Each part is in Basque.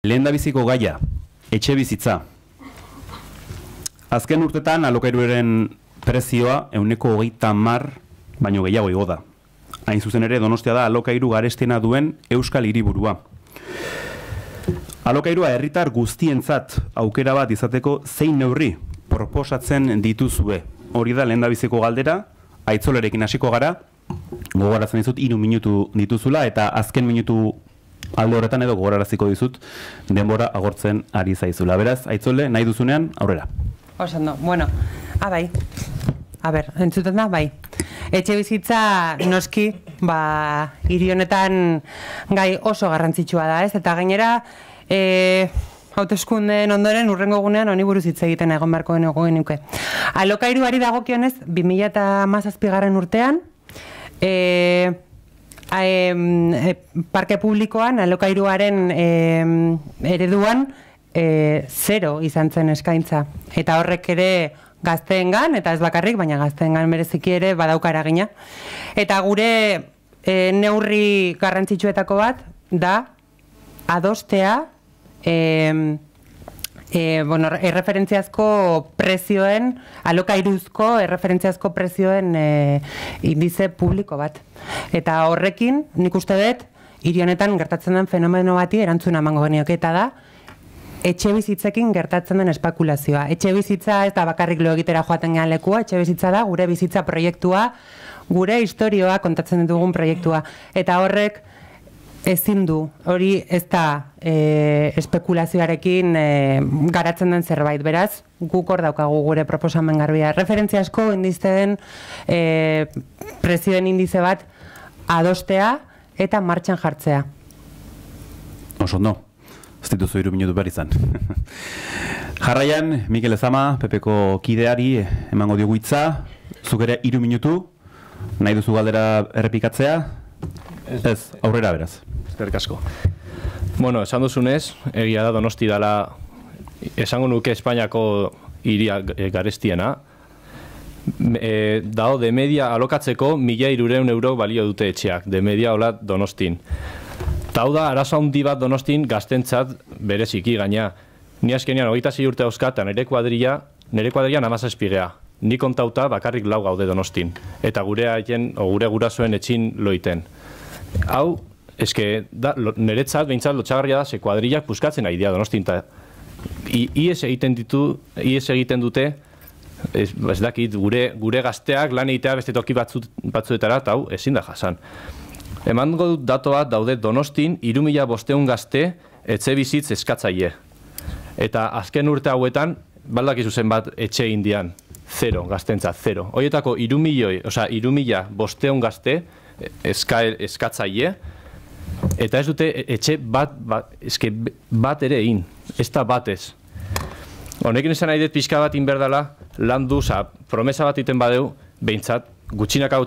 Lehendabiziko gaia, etxe bizitza. Azken urtetan alokairuaren prezioa 130 baino gehiago igo da. Hain zuzen ere Donostia da alokairu garestiena duen euskal hiriburua. Alokairua herritar guztientzat aukera bat izateko zein neurri proposatzen dituzue. Hori da lehendabiziko galdera, Aitzolerekin hasiko gara, gogoratzen dizut 3 minutu dituzula eta azken minutu alde horretan edo gogoraraziko dizut denbora agortzen ari zaizula. Beraz, Aitzole, nahi duzunean, aurrera. Osando, bueno, bai. A ber, entzuten da, bai. Etxe bizitza noski, hiri honetan gai oso garrantzitsua da, ez? Eta gainera, hauteskundeen ondoren urrengo egunean honi buruz hitz egiten egon beharko genuke. Alokairuari dagokionez, 2017 urtean, parke publikoan, alokairuaren ereduan, 0 izan zen eskaintza. Eta horrek ere gazteengan, eta ez bakarrik, baina gazteengan bereziki ere badauka eragina. Eta gure neurri garrantzitsuetako bat da adostea erreferentziazko prezioen, alokairuzko erreferentziazko prezioen indize publiko bat. Eta horrekin, nik uste dut, hiri honetan gertatzen den fenomeno bati erantzuna emango genioke, eta da, etxe bizitzekin gertatzen den espekulazioa. Etxe bizitza ez da bakarrik lo egitera joaten gehan lekua, etxe bizitza da gure bizitza proiektua, gure historioa kontatzen ditugun proiektua. Eta horrek ezin du, hori ez da espekulazioarekin garatzen den zerbait. Beraz, guk hor daukagu gure proposamen garbia. Referentziazko indizeen prezioen indize bat adostea eta martxan jartzea. Oso no. Ez dituzu 3 minutu behar izan. Jarraian, Mikel Ezama, Pepeko kideari emango diogu hitza. Zuk ere 3 minutu, nahi duzu galdera errepikatzea? Ez, aurrera beraz. Eskerrik asko. Bueno, esan duzunez, egia da Donosti dela, esango nuke Espainiako hiria garestiena. Dao, de media alokatzeko 1.300 euro balio dute etxeak, de media hola Donostin. Eta hau da, arazo handi bat Donostin gaztentzat bereziki gaina. Ni azkenean 26 urte dauzkat, eta nire kuadrilla 17 gea. Ni kontauta bakarrik 4 gaude Donostin. Eta gure gurasoen etxin loiten. Hau, eske, niretzat, behintzat, lotxagarria da, ze kuadrillak puskatzen ari dira Donostin. Ies egiten dute, ez dakit, gure gazteak lan egitea beste toki batzuetara, eta hau, ezin da jasan. Emango dut dato bat daude Donostin 3.500 gazte etxe bizitz eskatzaile. Eta azken urte hauetan, baldakizu zenbat etxe indian, 0, gaztentzat, 0. Horietako 3.500 gazte eskatzaile, eta ez dute etxe bat ere egin, ez da batez. Honekin esan nahi dut pixka bat inberdala, lan du, promesa bat iten badeu, behintzat, gutxinaka,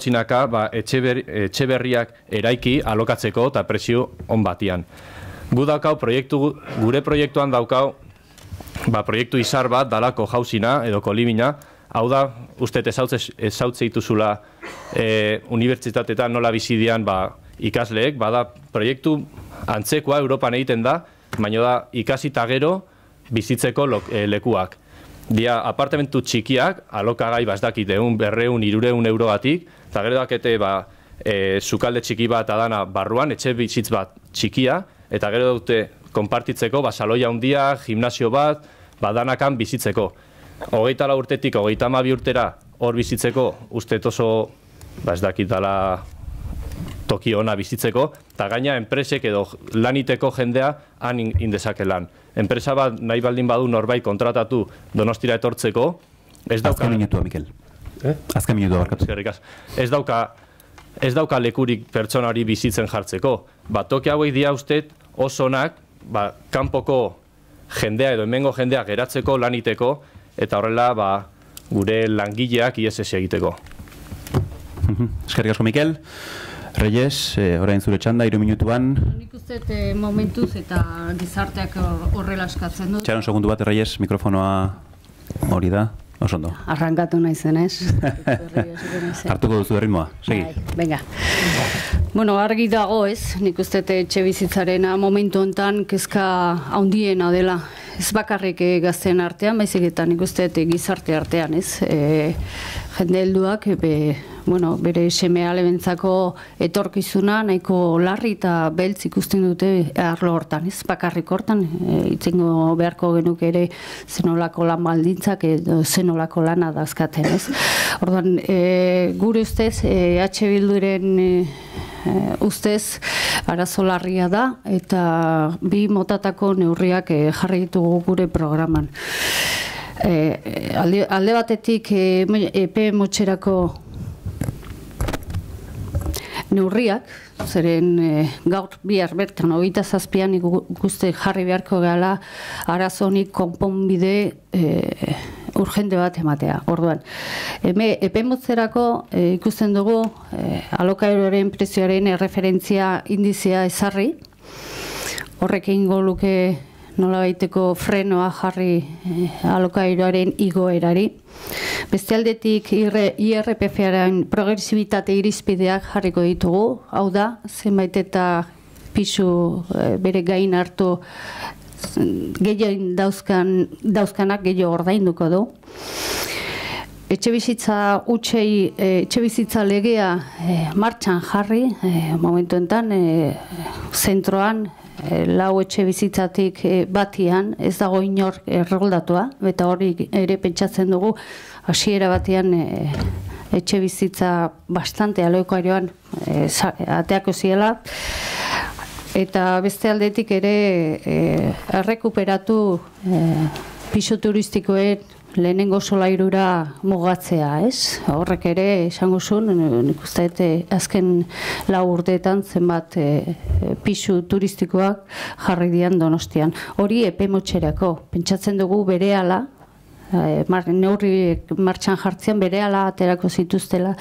etxe berriak eraiki alokatzeko eta prezio on batian. Gu daukau, gure proiektuan daukau, proiektu izar bat dalako jauzina edo kolimina, hau da, uste ezautze dituzula unibertsitatetan nola bizidian ikasleek, bada proiektu antzekoa Europan egiten da, baina da ikasita gero bizitzeko lekuak. Dia apartamentu txikiak, alokagai bazdakit 200-300 eurogatik, eta gero dakete sukalde txiki bat adana barruan, etxe bizitz bat txikia, eta gero dute konpartitzeko, saloia handia, gimnasio bat, danakan bizitzeko. 24 urtetik 32 urtera hor bizitzeko, uste oso, ez dakit dala toki ona bizitzeko, eta gaina enpresek edo laniteko jendea han indezake lan. Enpresa bat nahi baldin badu norbait kontratatu Donostira etortzeko, ez dauka... Azken minutua, Mikel. Azken minutua, barkatu. Ez dauka lekurik pertsona hori bizitzen jartzeko. Toki hauek dira ustet osonak, kanpoko jendea edo hemengo jendea geratzeko, laniteko, eta horrela gure langileak ISS egiteko. Eskerrik asko, Mikel. Reyes, orain zure txanda, 3 minutuan. Nik uste momentuz eta gizarteak horrela eskatzen dut. Txaron segundu bat, Reyes, mikrofonoa hori da. Osondo. Arrankatu naizen, ez? Hartuko duzu erritmoa, segi. Venga. Bueno, argi dago, ez? Nik uste etxe bizitzarena momentu hontan kezka handiena dela. Ez bakarrik gazteen artean, baizik eta nik uste gizarte artean, ez? Jende helduak, bere seme-alebentzako etorkizuna nahiko larri eta beltz ikusten dute arlo hortan, ez? Bakarrik hortan, itzengo beharko genuke ere zenolako lan baldintzak edo zenolako lana dazkaten, ez? Orduan, gure ustez, Bilduren ustez arazo larria da eta bi motatako neurriak jarri ditugu gure programan. Alde batetik epe motxerako neurriak, zeren gaur bihar bertan 27an ikuste jarri beharko gehala arazo honik konponbide urgente bat ematea. Orduan, epe motzerako ikusten dugu alokairuaren prezioaren erreferentzia indizea ezarri, horrek egingo luke nolabaiteko frenoa jarri alokairuaren igoerari. Beste aldetik IRPF-aren progresibitate irizpideak jarriko ditugu, hau da, zenbait eta pisu bere gain hartu gehien dauzkanak gehiago ordainduko du. Etxebizitza utxei, etxebizitza legea martxan jarri, momentu enten, zentroan, lau etxe bizitzatik batian, ez dago inor erroldatua, eta hori ere pentsatzen dugu, hasiera batean etxe bizitza bastante alokairioan ateako ziela, eta beste aldetik ere errekuperatu pisu turistikoen lehenengo solairura mugatzea, ez? Horrek ere, esango zuen, nik uste azken 4 urteetan zenbat pisu turistikoak jarri dian Donostian. Hori epe motxerako. Pentsatzen dugu berehala, neurri martxan jartzean berehala aterako zituztela,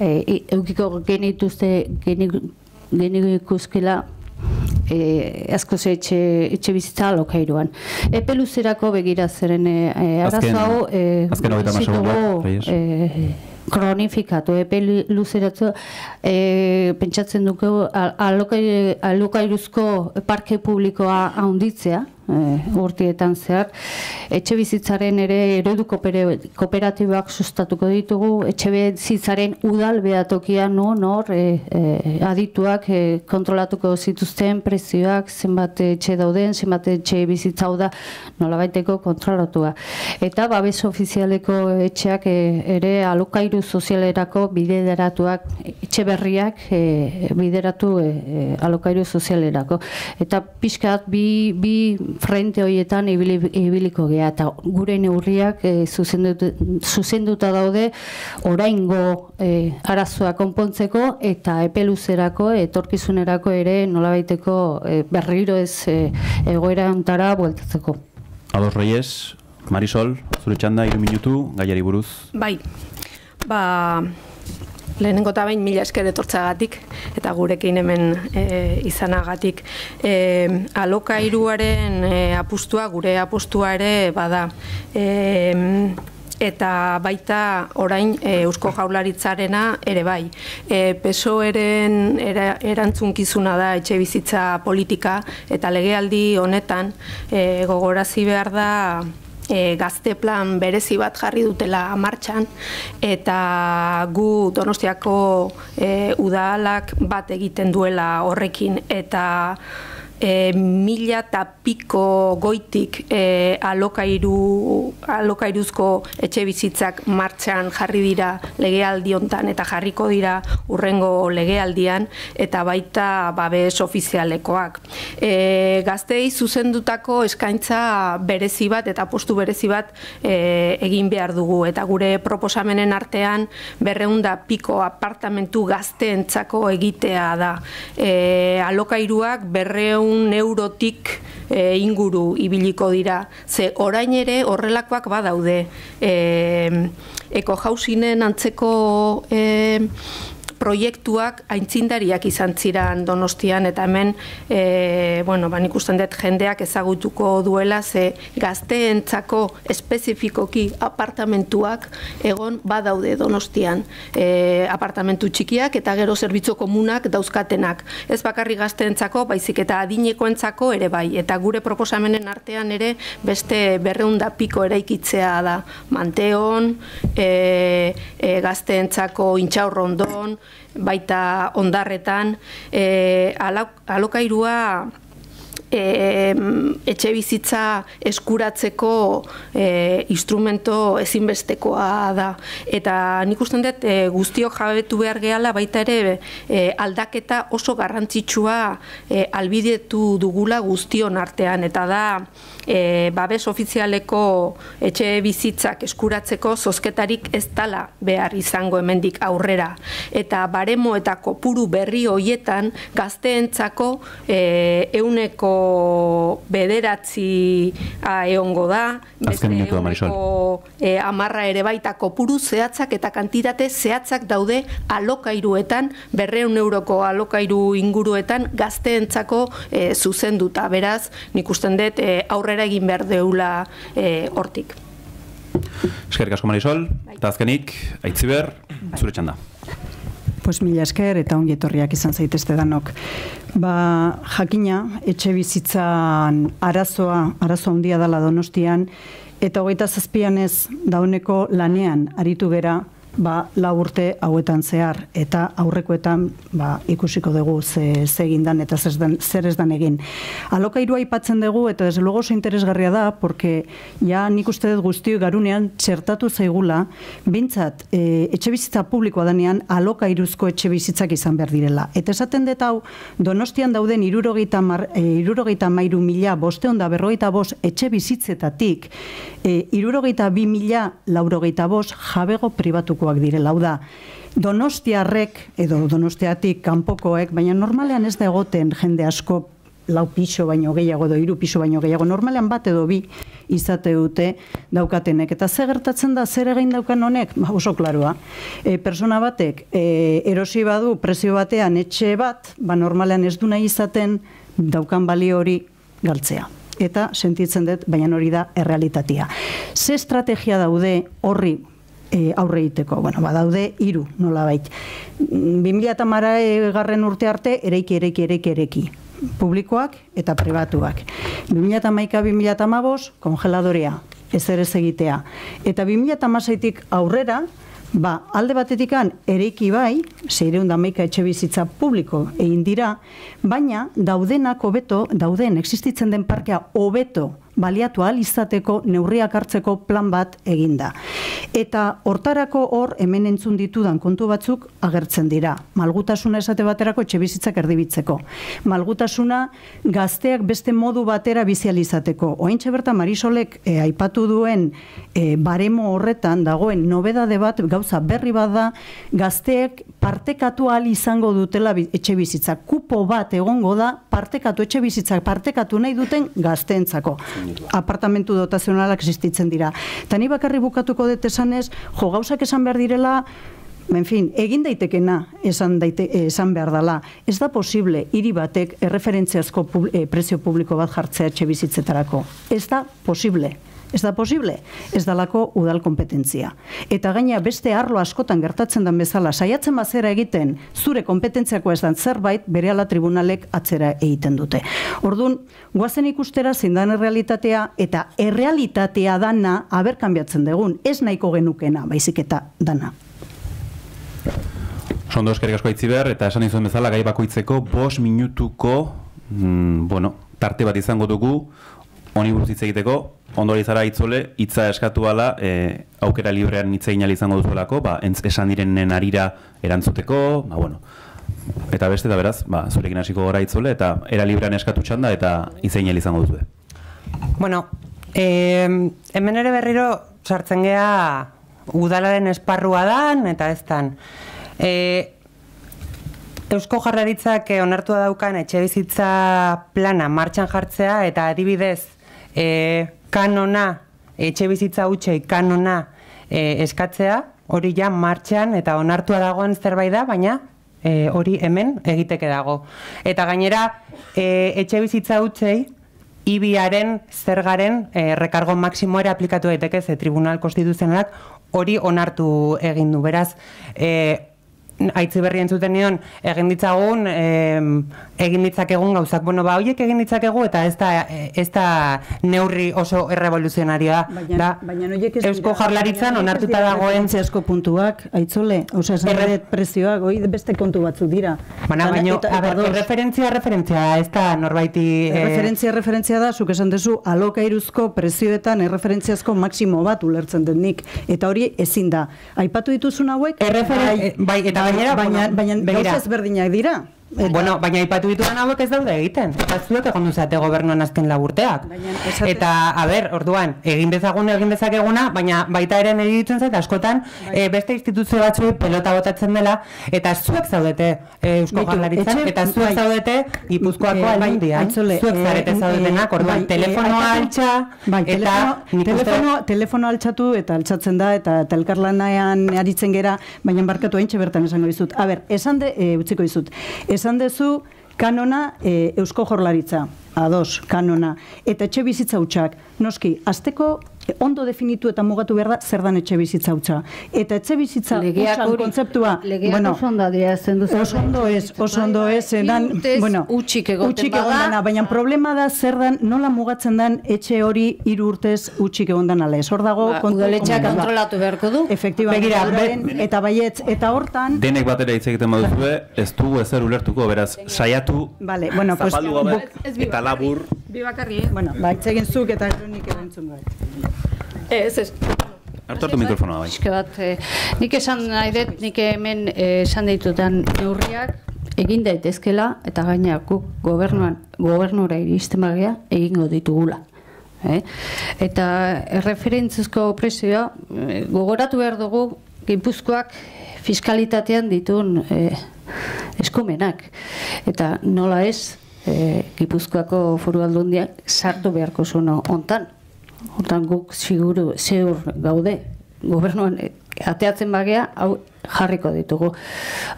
eukiko genituzkela asko etxe bizitza alokairuan. Epe luzerako begira zeren arazo hau kronifikatu, epe luzeratzu pentsatzen dugu alokairuzko parke publikoa handitzea, urtietan zehar, etxe bizitzaren ere eredu kooperatiboak sustatuko ditugu, etxe bizitzaren udal behatokia nor adituak kontrolatuko zituzten prezioak, zenbat etxe dauden, zenbat etxe bizitza da nolabaiteko kontrolatua. Eta babes ofizialeko etxeak ere alokairu sozialerako bideratuak, etxe berriak bideratu alokairu sozialerako. Eta pixkat bi frente horietan ibiliko gea, eta gure neurriak zuzenduta daude oraingo arazoa konpontzeko eta epe luzerako, etorkizunerako ere nolabaiteko berriro ez egoera ontara bueltatzeko. Ados Reyes, Marisol, zure txanda 3 minutu, gaiari buruz. Bai, lehenengo eta behin 1000 esker etortzagatik eta gurekin hemen izanagatik. Alokairuaren apustua, gure apustua ere bada. Eta baita orain Eusko Jaurlaritzarena ere bai. PSOEren erantzunkizuna da etxe bizitza politika eta legealdi honetan gogorazi behar da gazte plan berezi bat jarri dutela martxan eta gu Donostiako udalak bat egiten duela horrekin eta 1000 eta piko goitik alokairuzko etxe bizitzak martxan jarri dira legealdi hontan eta jarriko dira urrengo legealdian eta baita babes ofizialekoak. Gazteei zuzendutako eskaintza berezi bat eta postu berezi bat egin behar dugu eta gure proposamenen artean 200 piko apartamentu gazteentzako egitea da. Alokairuak 200 eurotik inguru ibiliko dira. Ze orain ere horrelakoak badaude. Ekohausinen antzeko proiektuak aintzindariak izan ziren Donostian, eta hemen nik usten dut jendeak ezagutuko duela, ze gazteentzako espezifikoki apartamentuak egon badaude Donostian. Apartamentu txikiak eta gero zerbitzu komunak dauzkatenak. Ez bakarrik gazteentzako, baizik eta adinekoentzako ere bai. Eta gure proposamenen artean ere beste 200 piko eraikitzea da. Manteon, gazteentzako Intxaurrondon, baita Ondarretan, alokairua etxe bizitza eskuratzeko instrumento ezinbestekoa da. Eta nik usten dut guztiok jabetu behar gehala baita ere aldaketa oso garrantzitsua albidetu dugula guztion artean, eta da babes ofizialeko etxe bizitzak eskuratzeko zozketarik ez dala behar izango hemendik aurrera. Eta baremo eta kopuru berri hoietan gazteentzako 100 bederatzi egongo da, beste 10 ere baita kopuru zehatzak eta kantitate zehatzak daude alokairuetan, 200 euroko alokairu inguruetan gazteentzako zuzenduta. Beraz, nik usten dut aurrera egin behar deula hortik. Eskerrik asko Marisol, eta azkenik, Aitziber, zure txanda. Pues mila esker eta ongi etorriak izan zaitezte danok. Jakina, etxe bizitzan arazoa handia dela Donostian, eta 27 ez dauneko lanean aritu gera 4 urte hauetan zehar, eta aurrekoetan ikusiko dugu ze egin dan eta zer ez dan egin. Alokairua aipatzen dugu, eta desde luego oso interesgarria da, porque ja nik uste dut guztioi garunean txertatu zaigula, bintzat etxe bizitza publikoa danean alokairuzko etxe bizitzak izan behar direla. Eta esaten dut hau, Donostian dauden 63.545 etxe bizitzetatik 62.485 jabego pribatuko direla, hau da, donostiarrek, edo donostiatik kanpokoek, baina normalean ez da egoten jende asko 4 piso baino gehiago, edo 3 piso baino gehiago, normalean 1 edo 2 izate dute daukatenek. Eta ze gertatzen da, zer egin daukan honek? Oso klaroa. Persona batek erosi badu prezio batean etxe bat, normalean ez du nahi izaten daukan balio hori galtzea. Eta sentitzen dut, baina hori da errealitatea. Ze estrategia daude horri aurre egiteko? Daude 3, nolabait. 2010 urte arte, eraiki. Publikoak eta pribatuak. 2011-2015, kongeladorea, ezer ez egitea. Eta 2016-tik aurrera, alde batetikan eraiki bai, 611 etxe bizitza publiko egin dira, baina daudenak hobeto, existitzen den parkea hobeto baliatu ahal izateko neurriak hartzeko plan bat eginda. Eta hortarako hor hemen entzun ditudan kontu batzuk agertzen dira. Malgutasuna esate baterako etxe bizitzak erdibitzeko. Malgutasuna gazteak beste modu batera bizializateko. Oraintxe bertan Marisolek aipatu duen baremo horretan dagoen nobedade bat, gauza berri bat da, gazteek partekatu ahal izango dutela etxe bizitza. Kupo bat egongo da etxe bizitzak partekatu nahi duten gazteentzako. Apartamentu dotazionalak existitzen dira. Eta ni bakarri bukatuko dut esanez, gauzak esan behar direla, egin daitekena esan behar dela. Ez da posible hiri batek erreferentziazko prezio publiko bat jartzea etxe bizitzetarako. Ez da posible. Ez da posible, ez dalako udal kompetentzia. Eta gaina beste arlo askotan gertatzen den bezala, saiatzen bazera egiten zure kompetentziako ez dan zerbait, berehala tribunalek atzera egiten dute. Orduan, guazen ikustera zein dan errealitatea, eta errealitatea dana kanbiatzen dugun, ez nahiko genukena, baizik eta dana. Sondo eskerrik asko Aitziber, eta esan izan bezala gai bakoitzeko 5 minutuko tarte bat izango dugu, honi buruz hitz egiteko. Ondori zara Itzole, hitza eskatu ala, aukera librean hitz egin izango duzuelako, esan direnen arira erantzuteko, eta beste da beraz, zurekin hasiko gara Itzole, eta era librean eskatu txanda, eta hitz egin izango duzue. Hemen ere berriro sartzen gea udalaren esparrua dan, eta ez dan. Eusko Jaurlaritzak onartua daukan etxe bizitza plana martxan jartzea, eta adibidez, kanona, etxe bizitza hutsei kanona eskatzea, hori ja martxan eta onartua dagoen zerbait da, baina hori hemen egiteke dago. Eta gainera, etxe bizitza hutsei, IBIaren zergaren rekargo maksimoera aplikatu daiteke, ze Tribunal Konstituzionalak hori onartu egin du. Beraz, Aitzi berri entzuten nion, egin ditzagun gauzak. Bueno, horiek egin ditzakegu eta ez da neurri oso errevoluzionarioa. Baina horiek ez Eusko Jaurlaritzan onartuta dagoen referentziazko puntuak, Aitzole, prezioak, beste kontu batzuk dira. Baina, referentzia ez da norbaiti... Referentzia da, zuk esan dezu, alokairuzko prezioetan erreferentziazko maksimo bat ulertzen denik. Eta hori ezin da. Aipatu dituzun hauek... Bai, eta baina gauza ezberdinak dira. Baina aipatu dituan hauek ez daude egiten. Eta zuek egon duzate gobernuan azken laburteak. Eta, orduan, egin dezakeguna, baina baita ere niri ditzen zait, askotan, beste instituzio batzuei pelota botatzen dela, eta zuek zaudete Eusko Jaurlaritzan, eta zuek zaudete Gipuzkoako Aldundian. Zuek zarete zaudetenak, orduan, telefonoa altxa, eta... Telefono altxatu eta altxatzen da, eta elkarlanean aritzen gera, baina barkatu haintxe bertan esango dizut. Utziko dizut. Esan dezu kanona Eusko Jaurlaritza, ados, kanona, eta etxe bizitza hutsak. Noski, azteko ondo definitu eta mugatu behar da zer dan etxe bizitza hutsa. Eta etxe bizitza hutsan kontzeptua... Legeak oso ondo adierazten duzu. Oso ondo ez, utxik egoten bada. Baina problema da zer dan, nola mugatzen den etxe hori 3 urtez utxik egon dan ala. Hor dago... Udaletxeak kontrolatu beharko du. Efektibamente, eta baietz, eta hortan... Denek batera hitz egiten baduzue, ez dugu ezer ulertuko, beraz, saiatu, zapaldu gabe, eta labur... Bi bakarri, hitz egin zuk eta nik erantzun bat. Ez. Hartu mikrofonoa bai. Nik esan nahi dut, nik hemen esan ditutan neurriak egin daitezkela eta gaina guk gobernura iristen bagea egingo ditugula. Eta erreferentzizko prezioa gogoratu behar dugu Gipuzkoak fiskalitatean dituen eskumenak. Eta nola ez Gipuzkoako Foru Aldundiak sartu beharko zuen hontan. Hortan guk zeur gaude, gobernuan ateatzen bagea, hau jarriko ditugu.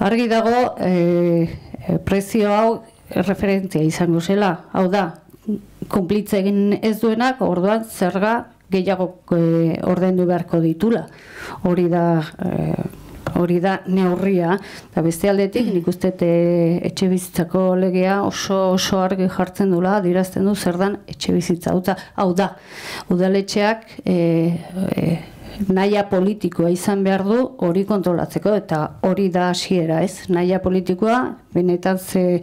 Argi dago, prezio hau referentzia izango zela, hau da, kunplitze egin ez duenak, orduan zerga gehiago ordaindu beharko ditula. Hori da neurria, eta beste aldetik nik uste etxe bizitzako legea oso argi jartzen dula, adierazten du zer dan etxe bizitza. Hau da, udaletxeak nahia politikoa izan behar du hori kontrolatzeko, eta hori da hasiera, ez? Nahia politikoa, benetan ze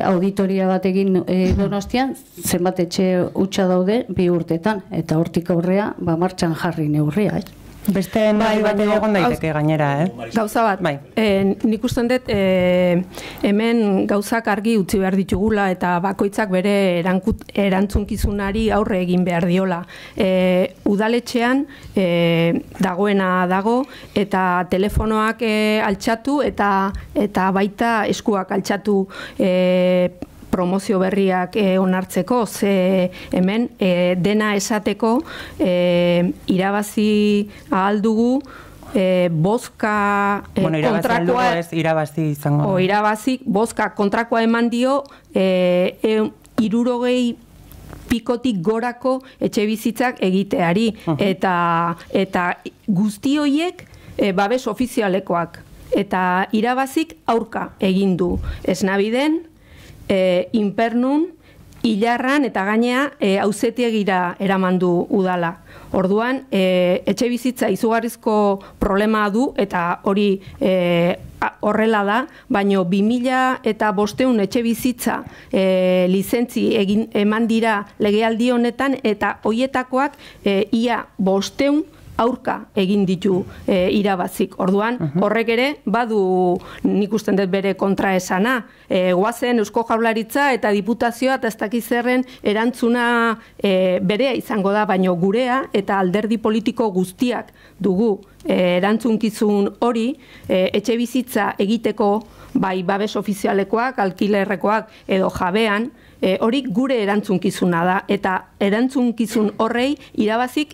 auditoria bat egin Donostian, zenbat etxe hutsa daude 2 urtetan, eta hortik aurrea martxan jarri neurria, ez? Beste nahi bat egon daiteke gainera, Gauza bat, nik usten dut hemen gauzak argi utzi behar ditugula eta bakoitzak bere erantzunkizunari aurre egin behar diola. Udaletxean dagoena dago eta telefonoak altxatu eta baita eskuak altxatu promozio berriak onartzeko, ze hemen dena esateko irabazi ahal dugu bozka kontrakoa... Irabazi izango. Irabazi, bozka kontrakoa eman dio 60 pikotik gorako etxe bizitzak egiteari. Eta guzti horiek babes ofizialekoak. Eta irabazik aurka egin du. Esnabiden, Inpernun, Ilarran eta gainea auzitegira eraman du udala. Orduan, etxe bizitza izugarrizko problema du eta hori horrela da, baino 2500 etxe bizitza lizentzi eman dira legealdi honetan eta hoietakoak ia 500 aurka egin ditu irabazik. Orduan, horrek ere, badu nik usten dut bere kontraesana. Goazen Eusko Jaurlaritza eta Diputazioa eta ez dakiz zerren erantzuna berea izango da, baino gurea eta alderdi politiko guztiak dugu erantzunkizun hori, etxe bizitza egiteko bai babes ofizialekoak, alkilerrekoak edo jabean, hori gure erantzunkizuna da. Eta erantzunkizun horrei irabazik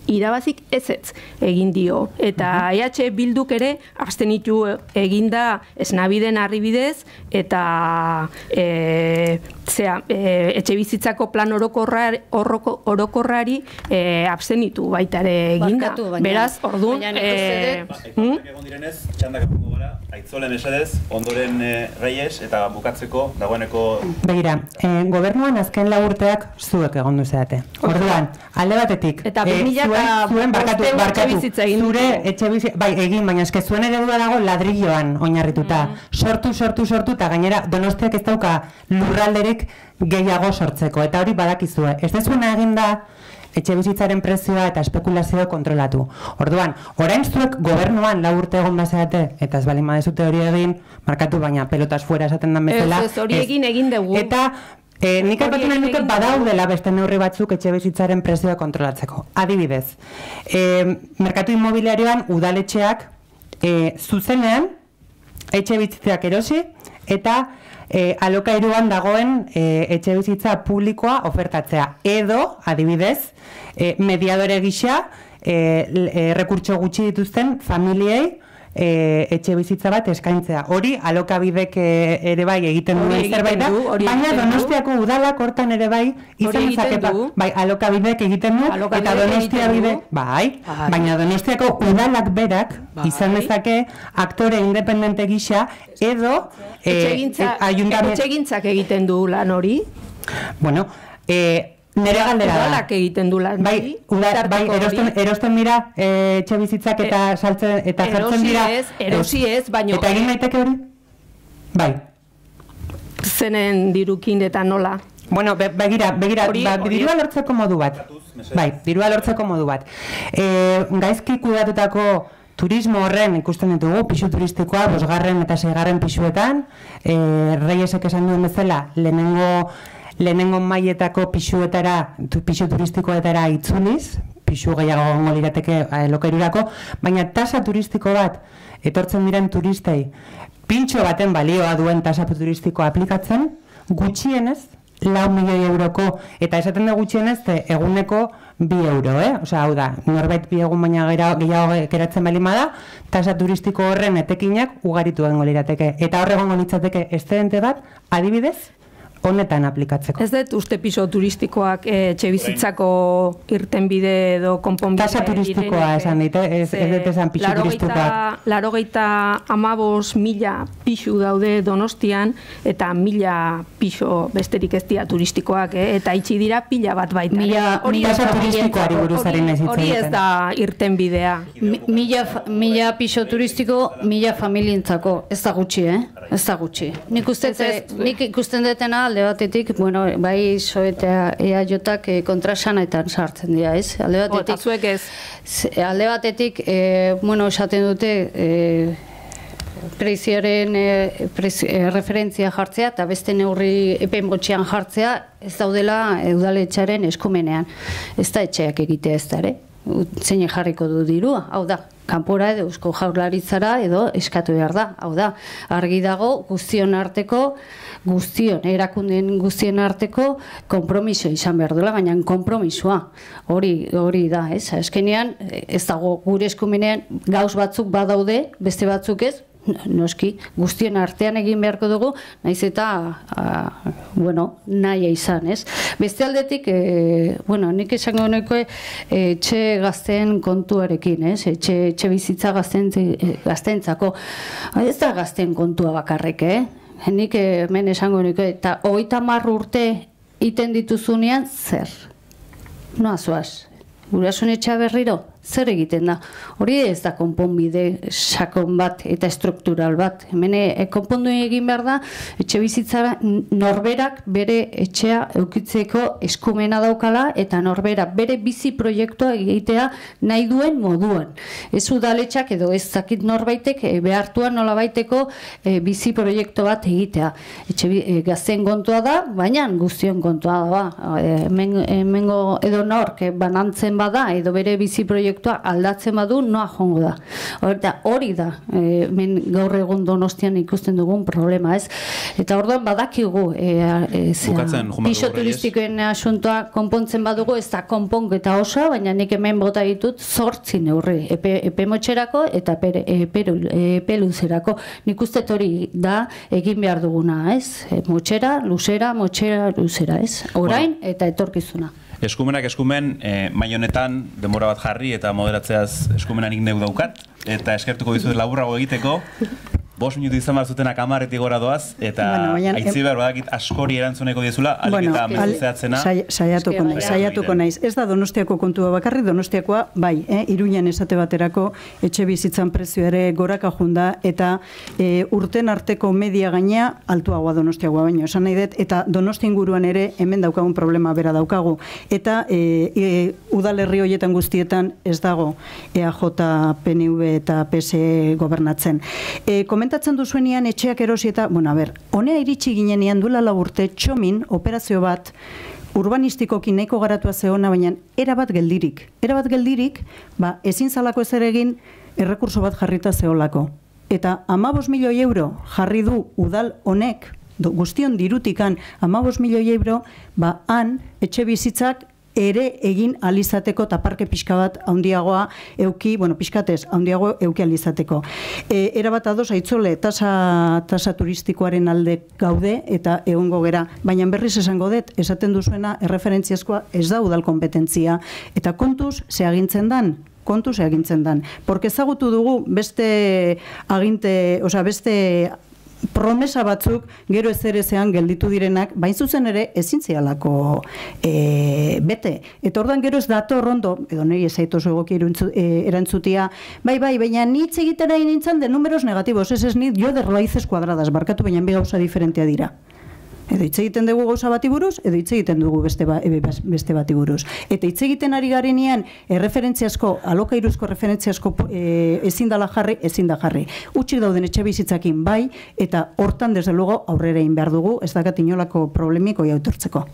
irabazik ezetz egin dio. Eta EH Bilduk ere abstenitu eginda esnabiden arribidez eta etxebizitzako plan orokorrari abstenitu baita ere eginda. Beraz, orduan... Egon direnez, txandak epungo gara, Aitzole mesedez, ondoren Reyes eta bukatzeko dagoeneko... Begira, gobernuan azken 4 urteak zuek egon duzeate. Orduan, alde batetik, eta 2000 barkatu, zure etxebizitza, bai, egin, baina eske zuen eredua dago ladrilloan oinarrituta. Sortu, eta gainera Donostiak ez dauka lurralderik gehiago sortzeko, eta hori badakizue. Ez dezuena egin da, etxebizitzaren prezioa eta espekulazioa kontrolatu. Orduan, orain zuek gobernuan 4 urte egon bazeate, eta ez balin badezute hori egin, markatu baina pelotas fuera esaten dan bezala. Ez hori egin dugu. Eta nik aipatu nahi nuke badaudela beste neurri batzuk etxebizitzaren prezioa kontrolatzeko. Adibidez, merkatu inmobiliarioan udaletxeak zuzenean etxebizitzak erosi eta alokairuan dagoen etxebizitza publikoa ofertatzea. Edo, adibidez, mediadore gisa rekurtso gutxi dituzten familiei etxebizitza bat eskaintzea. Hori alokabidek ere bai egiten duen zerbait da, baina Donostiako udalak hortan ere bai izan izaketa. Bai, alokabidek egiten du, eta Donostia bide, bai, baina Donostiako udalak berak izan dezake aktore independente gisa, edo etxegintzak egiten du lan hori. Bueno, nere galdera da. Udalak egiten du lan hori. Bai, erosten dira etxebizitzak eta saltzen eta jartzen dira. Erosi ez, baino. Eta egin daiteke hori? Bai. Zenen dirukin eta nola. Bueno, begira, dirua lortzeko modu bat. Bai, dirua lortzeko modu bat. Gaizki kudatutako turismo horren ikusten ditugu, pisu turistikoa, 5. eta 6. pisuetan, Reyesek esan duen bezala, lehenengo mailetako pisu turistikoetara itzuliz, pisu gehiago gongo lirateke lokairurako, baina tasa turistiko bat etortzen diren turistei pintxo baten balioa duen tasa turistikoa aplikatzen, gutxienez 4 milioi euroko, eta esaten da gutxienez eguneko 2 euro, Osea, hau da, norbait 2 egun baina gehiago geratzen balima da, tasa turistiko horren etekinak ugaritu egingo lirateke. Eta horregongo litzateke estedente bat, adibidez, honetan aplikatzeko. Ez dut uste piso turistikoak etxebizitzako irtenbide edo konponbide. Tasa turistikoa esan dit, ez dut esan pisu turistikoak. 85.000 pisu daude Donostian, eta 1.000 piso besterik ez dira turistikoak, eta itxi dira pila bat baita. Tasa turistikoari buruzaren ez hori ez da irtenbidea. 1.000 piso turistiko, 1.000 familientzako, ez da gutxi, Ez da gutxi. Nik ikusten detena alde batetik, bueno, bai soetea EAJak kontrasanetan sartzen dira, ez? Alde batetik, bueno, esaten dute prezioaren referentzia jartzea eta beste neurri epen botxean jartzea ez daudela udaletxaren eskumenean. Ez da etxeak egitea ez da, zein jarriko du dirua, hau da, kanpora edo Eusko Jaurlaritzara edo eskatu behar da, hau da, argi dago erakundeen guztien arteko konpromiso izan behar duela, baina konpromisoa, hori da, ez, azkenean, ez dago gure eskumenean gauz batzuk badaude, beste batzuk ez, noski, guztien artean egin beharko dugu, naiz eta, nahia izan, ez? Beste aldetik, nik esango nahiko etxe gazteen kontuarekin, ez? Etxe bizitza gazteentzako. Ez da gazteen kontua bakarrik, Nik hemen esango nahiko, eta 30 urte iten dituzunean, zer? Noa zoaz? Gurasun etxea berriro? Zer egiten da? Hori ez da konponbide sakon bat eta struktural bat. Hemen konpondu egin behar da, etxe bizitzara norberak bere etxea eukitzeko eskumena daukala eta norberak bere bizi proiektua egitea nahi duen moduan. Ez udaletxak edo ez zakit norbaitek behartuan nolabaiteko bizi proiektu bat egitea. Gazten kontua da, baina guztion kontua da. Hemengo edo nork banantzen bada edo bere bizi proiektu proiektua aldatzen badu, noa jongo da. Hori da, men gaur egun Donostian ikusten dugun problema, ez? Eta orduan badakigu, piso turistikoen asuntoa konpontzen badugu, ez da konponketa oso, baina nik hemen bota ditut 8 neurri, epe motxerako eta epe luzerako. Nik uste hori da egin behar duguna, ez? Motxera, luzera, ez? Orain eta etorkizuna. Eskumenak eskumen, mai honetan denbora bat jarri eta moderatzeaz eskumenanik neu daukat, eta eskertuko dizut laburrago egiteko. 5 minutu izan behar zutenak 10-etik gora doaz, eta aitzi behar badakit askori erantzuneko dizula, alik eta mezuzeatzena. Saiatuko naiz. Ez da Donostiako kontua bakarri, Donostiakoa, bai, Iruñan esate baterako etxe bizitzan prezio ere goraka junda, eta urten arteko media gaina altuagoa Donostiakoa baino, esan nahi dut, eta Donosti inguruan ere hemen daukagun problema bera daukagu. Eta udalerri horietan guztietan ez dago EAJ, PNV eta PSE gobernatzen. Komentatzen duzuenean etxeak erosi eta, honea iritsi ginenean duela urte txomin operazio bat urbanistikoki nahiko garatua zeona, baina erabat geldirik. Erabat geldirik, ezin zalako ezer egin errekurso bat jarrita zeolako. Eta 15 milioi euro jarri du udal honek, guztion dirutikan 15 milioi euro, han etxe bizitzak ere egin alizateko eta parke pixka bat handiagoa euki, pixkatez, handiago euki alizateko. Erabat ados, aitzole, tasa turistikoaren alde gaude eta egongo gera, baina berriz esango dut, esaten duzuena, erreferentziazkoa ez da udal kompetentzia, eta kontuz, ze agintzen dan, porque ezagutu dugu beste promesa batzuk gero ezerezean gelditu direnak, bain zuzen ere ezin zialako bete. Eta ordan gero ez dator ondo, edo niri ezaitozu egoki erantzutia, baina nitz egiten ari nintzen de números negativos, ez nit, jo de raíces cuadradas, barkatu, baina bi gauza diferentea dira. Edo hitz egiten dugu gauza bati buruz, edo hitz egiten dugu beste bati buruz. Eta hitz egiten ari garenean erreferentziazko, alokairuzko referentziazko ezin da jarri. Utxik dauden etxe bizitzakin bai, eta hortan desde luego aurrera egin behar dugu, ez dakat inolako problemiko jautortzeko.